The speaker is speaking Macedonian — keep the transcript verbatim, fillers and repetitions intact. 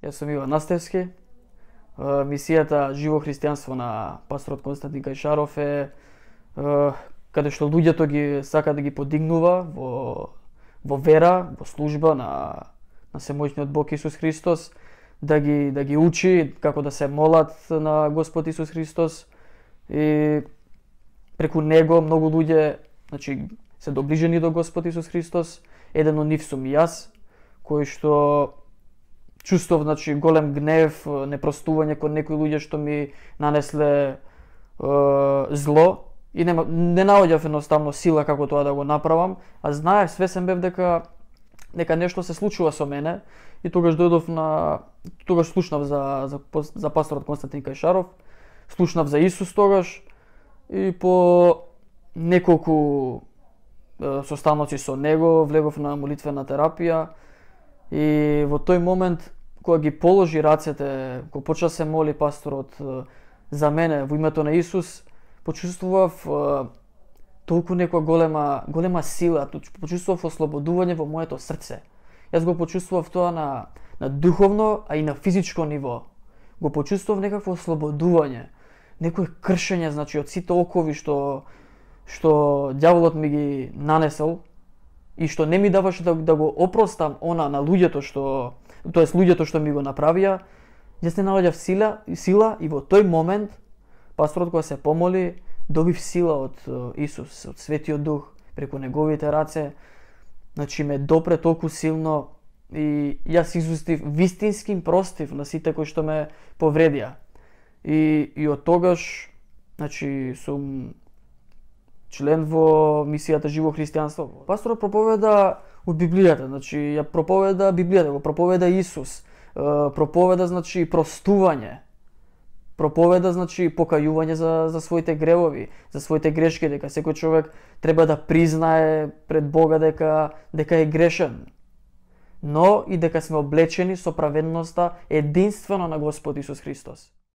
Јас сум Иван Настевски. Мисијата Живо христијанство на пасторот Константин Кајшаров е каде што луѓето ги сака да ги подигнува во во вера, во служба на на Семојчниот Бог Исус Христос, да ги да ги учи како да се молат на Господ Исус Христос и преку него многу луѓе, значи, се доближени до Господ Исус Христос. Еден од нив сум и јас, кој што чувствов, значи, голем гнев, непростување кон некои луѓе што ми нанесле е, зло и не, не наоѓав едноставно сила како тоа да го направам, а знаев, свесен бев дека дека нешто се случува со мене и тогаш дојдов на тогаш слушнав за за за пасторот Константин Кајшаров, слушнав за Исус тогаш и по неколку е, состаноци со него влегов на молитвена терапија и во тој момент кога ги положи рацете, кога почна се моли пасторот за мене во името на Исус, почувствував е, толку некоја голема голема сила, почувствував ослободување во моето срце. Јас го почувствував тоа на на духовно, а и на физичко ниво. Го почувствував некакво ослободување, некое кршење, значи, од сите окови што што ѓаволот ми ги нанесел и што не ми даваше да, да го опростам она на луѓето што, тоест луѓето што ми го направија. Јас не наоѓав сила, сила и во тој момент пасторот кога се помоли, добив сила од Исус, од Светиот Дух, преку неговите раце. Значи ме допре толку силно и јас изустив вистински простив на сите кои што ме повредија. И, и од тогаш, значи, сум член во мисијата Живо христијанство. Пасторот проповеда од Библијата, значи ја проповеда Библијата, го проповеда Исус, проповеда, значи, простување. Проповеда, значи, покајување за за своите гревови, за своите грешки, дека секој човек треба да признае пред Бога дека дека е грешен. Но и дека сме облечени со праведноста единствено на Господ Исус Христос.